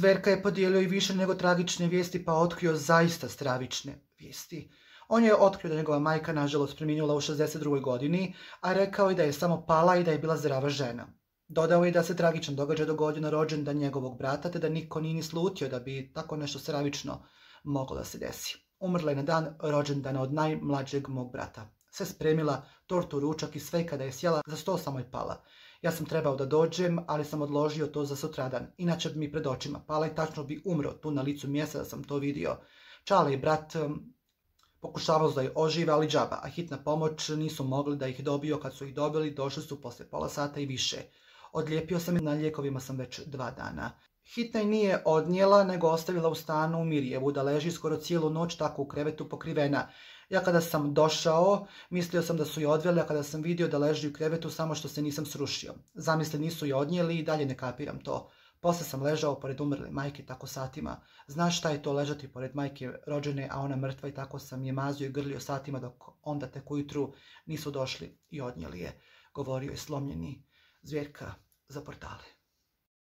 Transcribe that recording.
Zverka je podijelio i više nego tragične vijesti, pa otkrio zaista stravične vijesti. On je otkrio da njegova majka nažalost preminula u 62. godini, a rekao je da je samo pala i da je bila zdrava žena. Dodao je da se tragičan događaj dogodio na rođendan njegovog brata, te da niko nije ni slutio da bi tako nešto stravično moglo da se desi. Umrla je na dan rođendana od najmlađeg mog brata. Sve spremila, tortu, ručak i sve, kada je sjela za sto samo je pala. Ja sam trebao da dođem, ali sam odložio to za sutradan, inače bi mi pred očima pala i tačno bi umro tu na licu mjesta da sam to vidio. Čale i brat pokušavao da je ožive, ali džaba, a hitna pomoć nisu mogli da ih dobiju. Kad su ih dobili, došli su posle pola sata i više. Odlijepio sam i na lijekovima sam već 2 dana. Hitna i nije odnijela, nego ostavila u stanu u Mirjevu, da leži skoro cijelu noć tako u krevetu pokrivena. Ja kada sam došao, mislio sam da su je odveli, a kada sam vidio da leži u krevetu, samo što se nisam srušio. Zamisli, nisu je odnijeli i dalje ne kapiram to. Posle sam ležao pored umrle majke tako satima. Znaš šta je to ležati pored majke rođene, a ona mrtva, i tako sam je mazio i grlio satima dok onda tek ujutru nisu došli i odnijeli je, govorio je slomljeni Zverka za Portale.